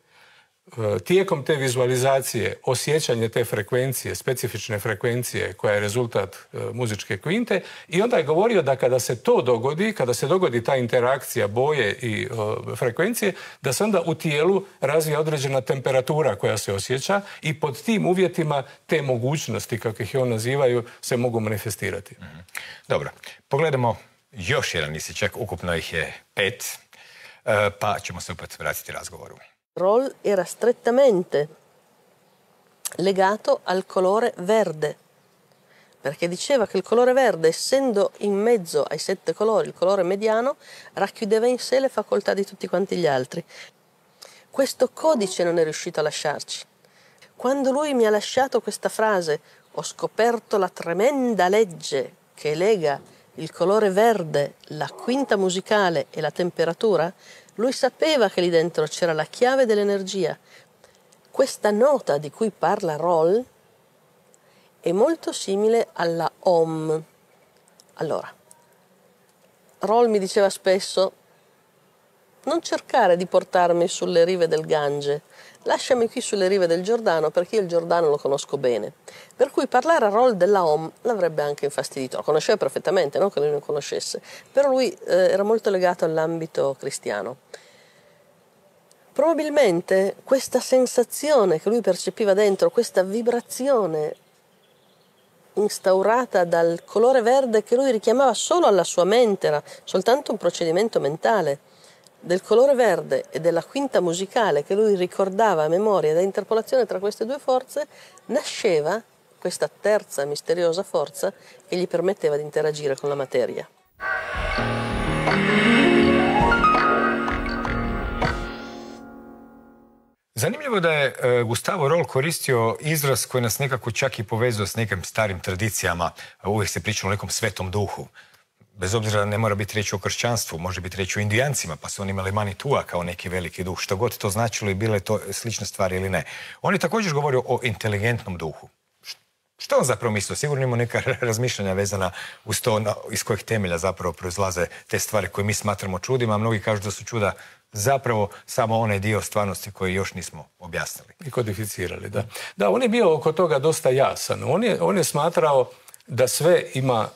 tijekom te vizualizacije osjećanje te frekvencije, specifične frekvencije koja je rezultat muzičke kvinte, i onda je govorio da kada se to dogodi, kada se dogodi ta interakcija boje i frekvencije, da se onda u tijelu razvija određena temperatura koja se osjeća i pod tim uvjetima te mogućnosti, kako ih on nazivaju, se mogu manifestirati. Dobro, pogledamo još jedan isječak, ukupno ih je 5, pa ćemo se opet vratiti razgovoru. Roll era strettamente legato al colore verde, perché diceva che il colore verde, essendo in mezzo ai 7 colori, il colore mediano, racchiudeva in sé le facoltà di tutti quanti gli altri. Questo codice non è riuscito a lasciarci. Quando lui mi ha lasciato questa frase, ho scoperto la tremenda legge che lega il colore verde, la quinta musicale e la temperatura, lui sapeva che lì dentro c'era la chiave dell'energia. Questa nota di cui parla Roll è molto simile alla Om. Allora, Roll mi diceva spesso: non cercare di portarmi sulle rive del Gange, lasciami qui sulle rive del Giordano, perché io il Giordano lo conosco bene. Per cui parlare a Roll della Om l'avrebbe anche infastidito. Lo conosceva perfettamente, non che lui non conoscesse, però lui era molto legato all'ambito cristiano. Probabilmente questa sensazione che lui percepiva dentro, questa vibrazione instaurata dal colore verde che lui richiamava solo alla sua mente, era soltanto un procedimento mentale, del colore verde e della quinta musicale che lui ricordava a memoria, da interpolazione tra queste due forze, nasceva questa terza misteriosa forza che gli permetteva di interagire con la materia. Zanimljivo da je Gustavo Roll koristio izraz koji nas nekako čak i povezuje s nekim starim tradicijama. Uvijek se priča o nekom svetom duhu. Bez obzira da ne mora biti riječ o kršćanstvu, može biti riječ o Indijancima, pa su oni imali Manitua kao neki veliki duh. Što god to značilo i bile to slične stvari ili ne. On je također govorio o inteligentnom duhu. Što on zapravo mislio? Sigurno ima neka razmišljanja vezana uz to iz kojih temelja zapravo proizlaze te stvari koje mi smatramo čudima, a mnogi kažu da su čuda zapravo samo onaj dio stvarnosti koji još nismo objasnili. I kodificirali, da. Da, on je bio oko toga dosta jasan. On je smatrao da sve ima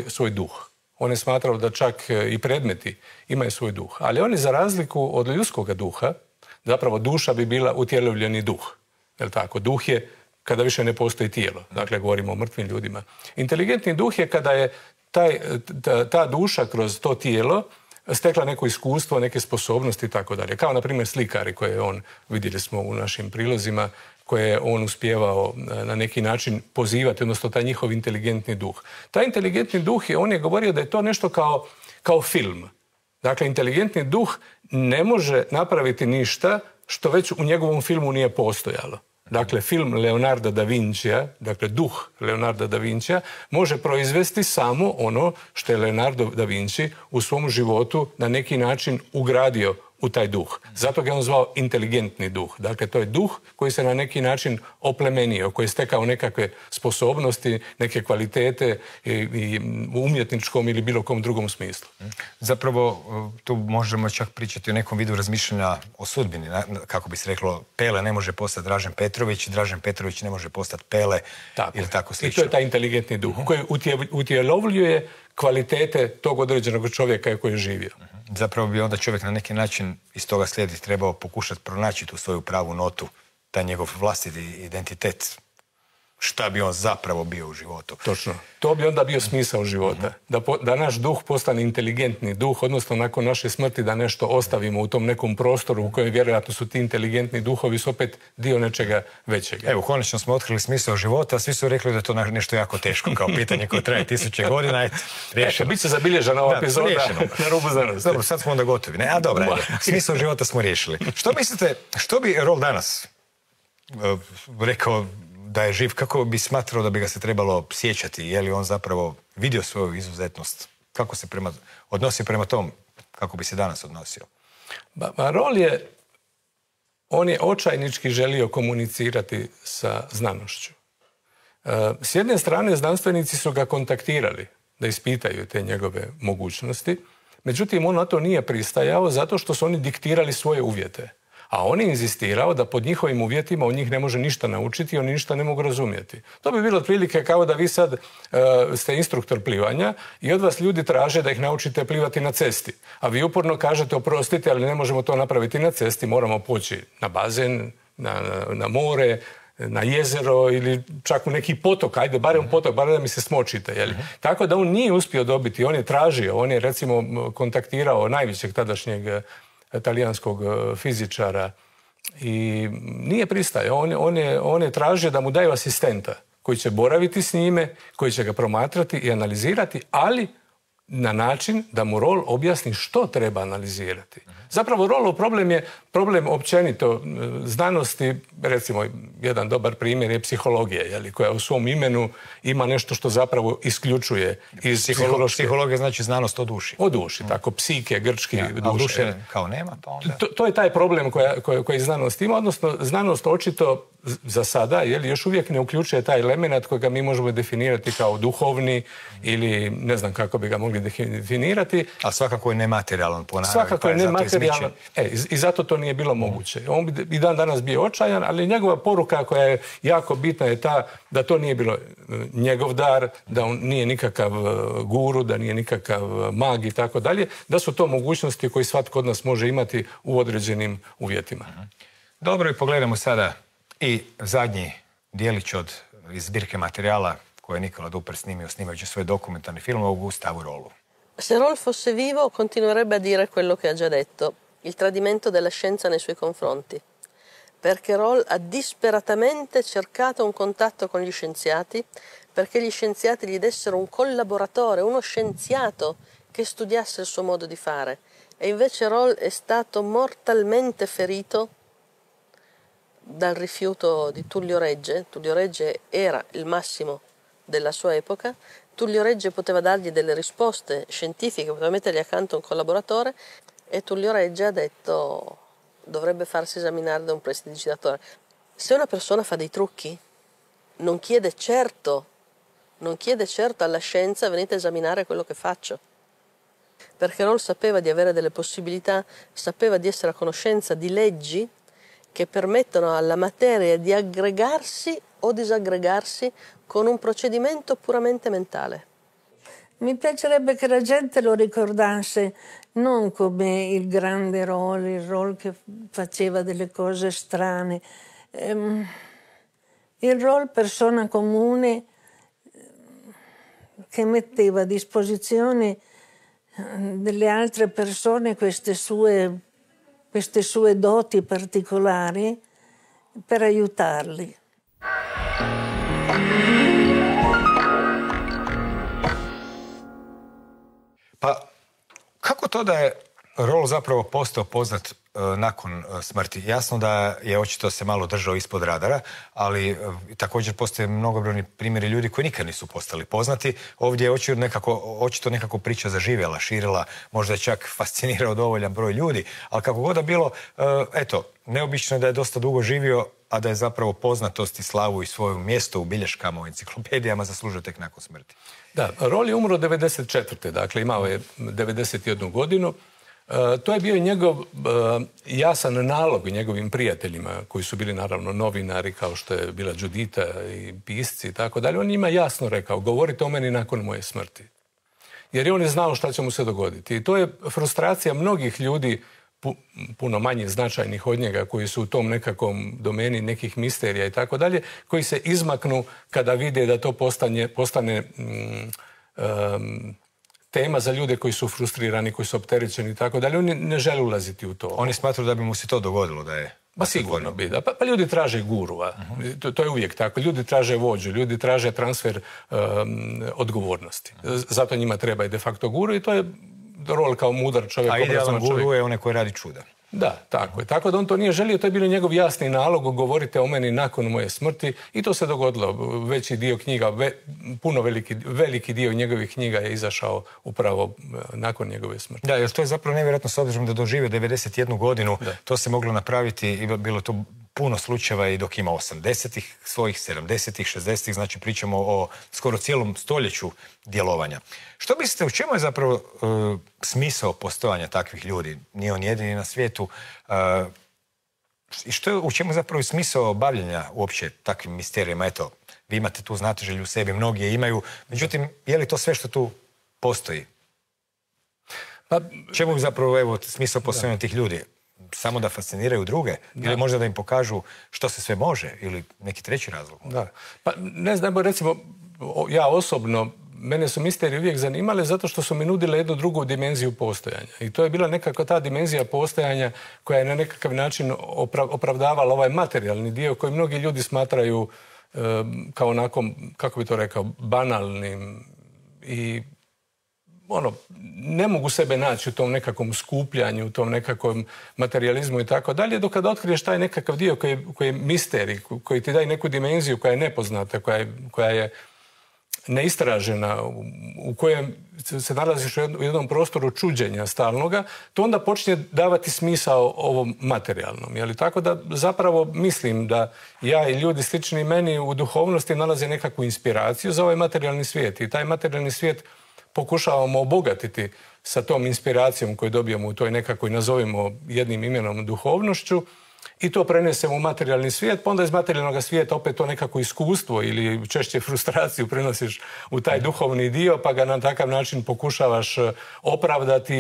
svoj duh. On je smatrao da čak i predmeti imaju svoj duh. Ali on je, za razliku od ljudskog duha, zapravo duša bi bila utjelovljeni duh. Jel tako? Duh je kada više ne postoji tijelo. Dakle, govorimo o mrtvim ljudima. Inteligentni duh je kada je ta duša kroz to tijelo stekla neko iskustvo, neke sposobnosti i tako dalje. Kao, na primjer, slikari koje on, vidjeli smo u našim prilozima, koje je on uspijevao na neki način pozivati, odnosno taj njihov inteligentni duh. Taj inteligentni duh, on je govorio da je to nešto kao film. Dakle, inteligentni duh ne može napraviti ništa što već u njegovom filmu nije postojalo. Dakle, film Leonarda da Vincija, dakle duh Leonarda da Vincija, može proizvesti samo ono što je Leonardo da Vinci u svom životu na neki način ugradio u taj duh. Zato ga je on zvao inteligentni duh. Dakle, to je duh koji se na neki način oplemenio, koji je stekao nekakve sposobnosti, neke kvalitete i u umjetničkom ili bilo kom drugom smislu. Zapravo, tu možemo čak pričati o nekom vidu razmišljanja o sudbini. Kako bi se reklo, Pele ne može postati Dražen Petrović, Dražen Petrović ne može postati Pele ili tako slično. I to je taj inteligentni duh koji utjelovljuje kvalitete tog određenog čovjeka koji je živio. Zapravo bi onda čovjek na neki način iz toga slijedi trebao pokušati pronaći tu svoju pravu notu, taj njegov vlastiti identitet. Šta bi on zapravo bio u životu. Točno. To bi onda bio smisao života. Da naš duh postane inteligentni duh, odnosno nakon naše smrti da nešto ostavimo u tom nekom prostoru u kojem vjerojatno su ti inteligentni duhovi su opet dio nečega većega. Evo, konačno smo otkrili smisao života, svi su rekli da je to nešto jako teško, kao pitanje koje traje 1000 godina. Eto, riješeno. Bit će zabilježena ova epizoda na rubu znanosti. Dobro, sad smo onda gotovi. A dobro, smisao života smo riješili. Što mislite, što bi Roll danas rekao da je živ, kako bi smatrao da bi ga se trebalo sjećati? Je li on zapravo vidio svoju izuzetnost? Kako se odnosi prema tom? Kako bi se danas odnosio? On je očajnički želio komunicirati sa znanošću. S jedne strane, znanstvenici su ga kontaktirali da ispitaju te njegove mogućnosti, međutim, on na to nije pristajao zato što su oni diktirali svoje uvjete. A on je inzistirao da pod njihovim uvjetima on njih ne može ništa naučiti i oni ništa ne mogu razumjeti. To bi bilo otprilike kao da vi sad ste instruktor plivanja i od vas ljudi traže da ih naučite plivati na cesti. A vi uporno kažete, oprostite, ali ne možemo to napraviti na cesti, moramo poći na bazen, na more, na jezero ili čak u neki potok, ajde, barem potok, barem da mi se smočite. Jeli? Tako da on nije uspio dobiti, on je tražio, on je recimo kontaktirao najvećeg tadašnjeg talijanskog fizičara i nije pristajao. On je tražio da mu daju asistenta koji će boraviti s njime, koji će ga promatrati i analizirati, ali na način da mu Roll objasni što treba analizirati. Zapravo Rollov problem je problem općenito znanosti, recimo jedan dobar primjer je psihologija, koja u svom imenu ima nešto što zapravo isključuje iz psihološke... Psihologija znači znanost o duši. O duši, tako, psike, grčki, duše kao nema, pa onda... To je taj problem koji znanost ima, odnosno znanost očito za sada, još uvijek ne uključuje taj element kojega mi možemo definirati kao duhovni ili ne znam kako bi ga mogli definirati. A svakako je nematerijalan po naravi. Svakako je nematerijalan. I zato to nije bilo moguće. On bi i dan danas bio očajan, ali njegova poruka koja je jako bitna je ta da to nije bilo njegov dar, da on nije nikakav guru, da nije nikakav mag i tako dalje, da su to mogućnosti koje svatko od nas može imati u određenim uvjetima. Dobro, i pogledamo sada i zadnji dijelić iz zbirke materijala koje je Nicola Duper snimio snimajući svoj dokumentarni film o Gustavo Rollu. Se Roll fosse vivo continuerebbe a dire quello che ha già detto, il tradimento della scienza nei suoi confronti, perché Roll ha disperatamente cercato un contatto con gli scienziati, perché gli scienziati gli dessero un collaboratore, uno scienziato che studiasse il suo modo di fare. E invece Roll è stato mortalmente ferito dal rifiuto di Tullio Regge. Tullio Regge era il massimo della sua epoca. Tullio Regge poteva dargli delle risposte scientifiche, poteva mettergli accanto un collaboratore e Tullio Regge ha detto dovrebbe farsi esaminare da un prestidigitatore. Se una persona fa dei trucchi, non chiede certo alla scienza venite a esaminare quello che faccio. Perché Roll sapeva di avere delle possibilità, sapeva di essere a conoscenza di leggi che permettono alla materia di aggregarsi o disaggregarsi con un procedimento puramente mentale. Mi piacerebbe che la gente lo ricordasse non come il grande Roll, il Roll che faceva delle cose strane. Il Roll persona comune che metteva a disposizione delle altre persone queste sue doti particolari per aiutarli. Pa, kako to da je Roll zapravo postao poznat nakon smrti? Jasno da je očito se malo držao ispod radara, ali također postoje mnogobrojni primjeri ljudi koji nikad nisu postali poznati. Ovdje je očito nekako priča zaživjela, širila, možda je čak fascinirao dovoljan broj ljudi, ali kako god da bilo, neobično je da je dosta dugo živio, a da je zapravo poznatost i slavu i svoje mjesto u bilješkama, u enciklopedijama zaslužio tek nakon smrti. Da, Roll je umro 1994. Dakle imao je 91 godinu. To je bio i njegov jasan nalog njegovim prijateljima, koji su bili naravno novinari, kao što je bila Judita i pisci i tako dalje. On njima jasno rekao, govorite o meni nakon moje smrti. Jer je on je znao šta će mu se dogoditi. I to je frustracija mnogih ljudi, puno manje značajnih od njega, koji su u tom nekakvom domeni nekih misterija i tako dalje, koji se izmaknu kada vide da to postane tema za ljude koji su frustrirani, koji su opterećeni i tako dalje. Oni ne žele ulaziti u to. Oni smatruju da bi mu se to dogodilo, da je... Pa sigurno bi, da. Pa ljudi traže gurua. To je uvijek tako. Ljudi traže vođu, ljudi traže transfer odgovornosti. Zato njima treba i de facto guru i to je Roll kao mudar čovjek. A idealan guru je onaj koji radi čuda. Da, tako je. Tako da on to nije želio, to je bilo njegov jasni nalog, govorite o meni nakon moje smrti i to se dogodilo. Veći dio knjiga, veliki dio njegovih knjiga je izašao upravo nakon njegove smrti. Da, jer to je zapravo nevjerojatno s obzirom da doživio 91 godinu, to se moglo napraviti i bilo to puno slučajeva i dok ima 80-ih, svojih 70-ih, 60-ih, znači pričamo o skoro cijelom stoljeću djelovanja. Što mislite, u čemu je zapravo smisao postojanja takvih ljudi? Nije on jedini na svijetu. U čemu je zapravo smisao bavljenja uopće takvim misterijama? Eto, vi imate tu znatiželju u sebi, mnogi je imaju. Međutim, je li to sve što tu postoji? Čemu je zapravo smisao postojanja tih ljudi? Samo da fasciniraju druge? Ili možda da im pokažu što se sve može? Ili neki treći razlog? Da. Pa ne znam, recimo, ja osobno, mene su misterije uvijek zanimale zato što su mi nudile jednu drugu dimenziju postojanja. I to je bila nekakva ta dimenzija postojanja koja je na nekakav način opravdavala ovaj materijalni dio koji mnogi ljudi smatraju kao onako, kako bi to rekao, banalnim i ne mogu sebe naći u tom nekakvom skupljanju, u tom nekakvom materijalizmu i tako dalje, dok kada otkriješ taj nekakav dio koji je misterij, koji ti daje neku dimenziju koja je nepoznata, koja je neistražena, u kojem se nalaziš u jednom prostoru čuđenja stalnoga, to onda počinje davati smisao ovom materijalnom. Tako da zapravo mislim da ja i ljudi slični meni u duhovnosti nalaze nekakvu inspiraciju za ovaj materijalni svijet. I taj materijalni svijet pokušavamo obogatiti sa tom inspiracijom koju dobijemo u toj nekakvoj, nazovimo jednim imenom, duhovnošću, i to prenesemo u materijalni svijet, pa onda iz materijalnog svijeta opet to nekako iskustvo ili češće frustraciju prenosiš u taj duhovni dio, pa ga na takav način pokušavaš opravdati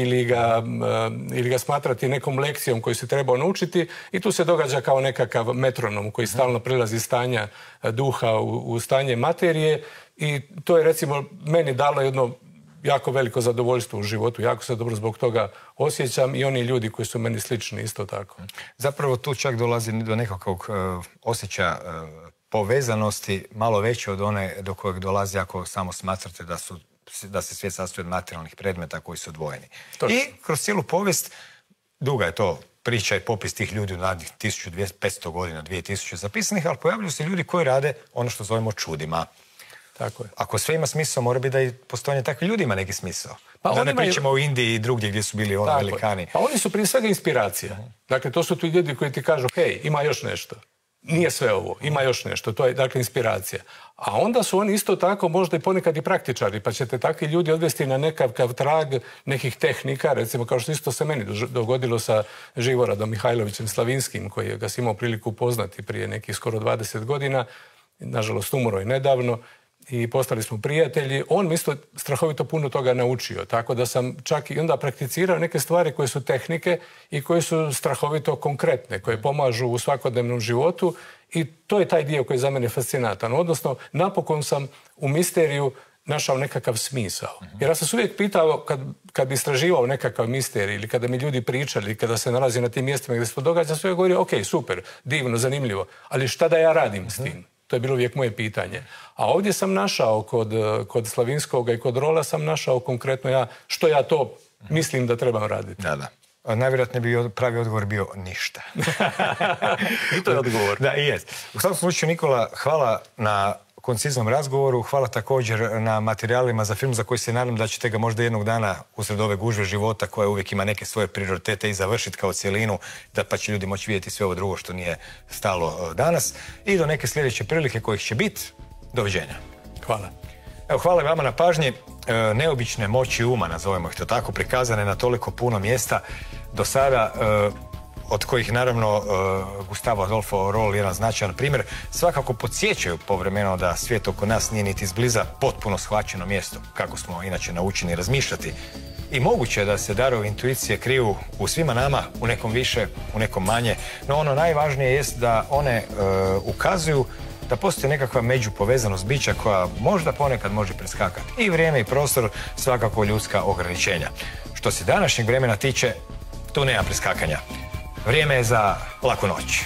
ili ga smatrati nekom lekcijom koju si trebao naučiti, i tu se događa kao nekakav metronom koji stalno prelazi stanja duha u stanje materije, i to je recimo meni dalo jedno jako veliko zadovoljstvo u životu. Jako se dobro zbog toga osjećam i oni ljudi koji su meni slični isto tako. Zapravo tu čak dolazi do nekakvog osjećaja povezanosti malo veće od one do kojeg dolazi ako samo smatrate da se svijet sastoji od materijalnih predmeta koji su odvojeni. Točno. I kroz cijelu povijest, duga je to priča i popis tih ljudi u narednih 1500 godina, 2000 zapisanih, ali pojavljuju se ljudi koji rade ono što zovemo čudima. Tako je. Ako sve ima smisao, mora biti da i postojanje takvih ljudi ima neki smisao. Pa da ne pričamo o Indiji i drugdje gdje su bili velikani. Pa oni su prije svega inspiracija. Dakle, to su ti ljudi koji ti kažu, hej, ima još nešto. Nije sve ovo, ima još nešto. To je, dakle, inspiracija. A onda su oni isto tako možda i ponekad i praktičari, pa ćete takvi ljudi odvesti na nekakav trag nekih tehnika, recimo kao što isto se meni dogodilo sa Živoradom Mihajlovićem Slavinskim, koji ga si imao priliku upoznati prije nekih skoro 20 godina. Nažalost, umro je nedavno. I postali smo prijatelji. On mi isto strahovito puno toga naučio, tako da sam čak i onda prakticirao neke stvari koje su tehnike i koje su strahovito konkretne, koje pomažu u svakodnevnom životu, i to je taj dio koji je za mene fascinantan. Odnosno, napokon sam u misteriju našao nekakav smisao. Jer ja sam se uvijek pitao, kad bi istraživao nekakav misterij ili kada mi ljudi pričali, kada se nalazi na tim mjestima gdje se to događa, sve govorio, ok, super, divno, zanimljivo, ali šta da ja radim s tim? To je bilo uvijek moje pitanje. A ovdje sam našao, kod Slavinskoga i kod Rolla sam našao konkretno što ja to mislim da trebam raditi. Da. Najvjerojatnije bi pravi odgovor bio ništa. I to je odgovor. Da, i jest. U svakom slučaju, Nikola, hvala na konciznom razgovoru, hvala također na materijalima za film za koji se nadam da ćete ga možda jednog dana usred ove gužve života koja uvijek ima neke svoje prioritete i završiti kao cjelinu, pa će ljudi moći vidjeti sve ovo drugo što nije stalo danas. I do neke sljedeće prilike kojih će biti. Doviđenja. Hvala. Evo, hvala vama na pažnji. Neobične moći uma, nazovemo ih to tako, prikazane na toliko puno mjesta do sada, od kojih naravno Gustavo Adolfo Roll jedan značajan primjer, svakako podsjećaju povremeno da svijet oko nas nije niti izbliza potpuno shvaćeno mjesto, kako smo inače naučeni razmišljati. I moguće je da se darovi intuicije kriju u svima nama, u nekom više, u nekom manje, no ono najvažnije jest da one ukazuju da postoji nekakva međupovezanost bića koja možda ponekad može preskakati i vrijeme i prostor, svakako ljudska ograničenja. Što se današnjeg vremena tiče, tu nema preskakanja. Vrijeme je za laku noć.